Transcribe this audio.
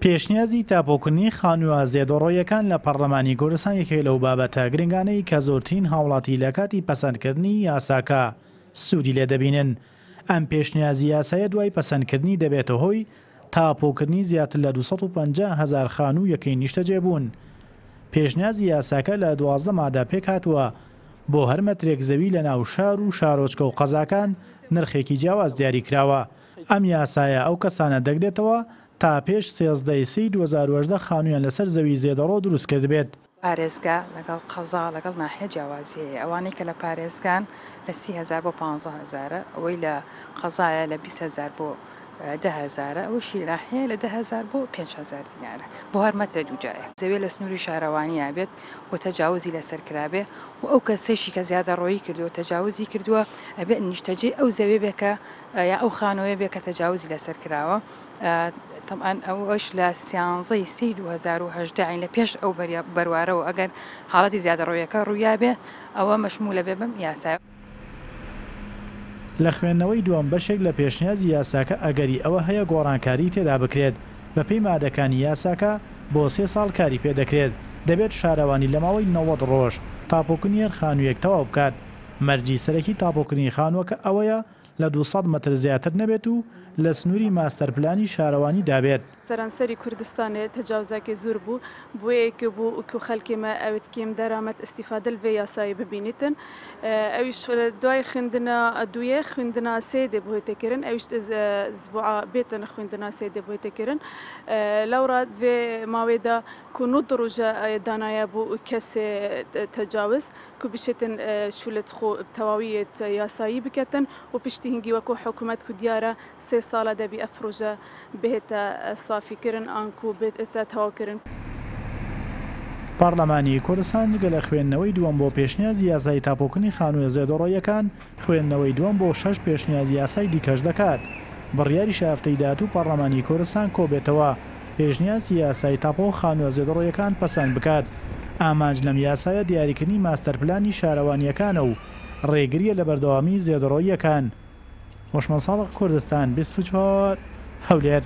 پێشنیازی تاپۆکردنی خانووە زێدەڕۆییەکان لە پەڕلەمانی کوردستان یەکێک لەو بابەتە گرنگانەی کە زۆرترین هاوڵاتی لە کاتی پەسەندکردنی یاساکە سوودی لێ دەبینن. ئەم پێشنیازی یاسایە دوای پەسەندکردنی دەبێتە هۆی تاپۆکردنی زیاتر لە 250 هەزار خانوو یەکەی نیشتەجێبوون. پێشنیازی یاساکە لە 12 مادە پێکهاتووە، بۆ هەر مەترێک زەوی لە ناو شار و شارۆچکە و قەزاکان نرخێکی جیاواز دیاریکراوە. ئەم یاسایە ئەو کەسانە دەگرێتەوە تا پێش 13 ی سێی 2018 خانوویان لەسەر زەوی زێدەڕۆ دروست کردبێت. پارێزگا لەگەڵ قەزا لەگەڵ ناحیە جیاوازی هەیە، ئەوانەی کە لە پارێزگان لە 30 هەزار بۆ 15 هەزارە، ئەوەی لە قەزایە لە 20 هەزار بۆ 10 هەزارە، ئەوەشی لە ناحیەیە لە 10 هەزار بۆ 5 هەزار دینارە بۆ هەر مەترە دووجایە. زەویە لە سنووری شارەوانییا بێت و تەجاوزی لەسەر کرابێ و ئەو کەسەیشی کە زیادەڕۆیی کردووە تەجاوزی کردووە ئەبێ نیشتەجێی ئەو زەویە بێ کە یا ئەو خانوویە بێ کە تەجاوزی لەسەر کراوە. تەبعەن ئەوەش لە سیانزەی سێی 2018 یانی لە پێش ئەو بەروارەوە ئەگەر حاڵەتی زیادەڕۆیەکە ڕوویابێ ئەوە مەشموولە بێ بەم یاسایە. لە خوێندنەوەی دووەم بەشێک لە پێشنیازی یاساکە ئەگەری ئەوە هەیە گۆڕانکاری تێدا بکرێت، بەپێی مادەکانی یاساکە بۆ سێ ساڵ کاری پێدەکرێت، دەبێت شارەوانی لە ماوەی 90 ڕۆژ تاپۆکردنی هەر خانوویەک تەواو بکات، مەرجی سەرەکی تاپۆکردنی خانووەکە ئەوەیە لە 200 مەتر زیاتر نەبێت و لە سنووری ماستەرپلانی شارەوانیدا بێت. سەرانسەری کوردستانێ تەجاوزاکێ زور بوو، بوێ ک بوو کو خەلکێ مە ئەوێت کێم دەرامەت ئستیفادە ل ڤێ یاسایێ ببینیتن. ئەویش دوای خویندنا دویێ خویندنا سێ دێ بوێتە کرن، ئەویش زبوعا بێتن خویندنا سێ دێ بوێتە کرن. لەورا دڤێ ماوێدا کو 90 ڕوژە دانایە بوو کەسێ تەجاوز کو بشێتن شولت خو بتەواویێت یاسایی بکەتن و پشتی هنگی وەکو حکومەت کو دیارە سێ ساڵە دەبی ئەف پرۆژە بهێتە سافی کرن ئانکو بێتە تەواو کرن. پەڕلەمانی کوردستان جگە لە خوێندنەوەی دووەم بۆ پێشنیازی یاسای تاپۆکردنی خانووە زێدەڕۆییەکان، خوێندنەوەی دووەم بۆ شەش پێشنیازی یاسای دیکەش دەکات. بڕیاریشە هەفتەی داهاتوو پەڕلەمانی کوردستان کۆبێتەوە پێشنیازی یاسای تاپۆ خانووە زێدەڕۆیەکان پەسەند بکات. ئامانج لەم یاسایە دیاریکردنی ماستەرپلانی شارەوانییەکانە و ڕێگرییە لە بەردەوامیی زێدەڕۆییەکان. هۆشمەند ساڵح، کوردستان 24، هەولێر.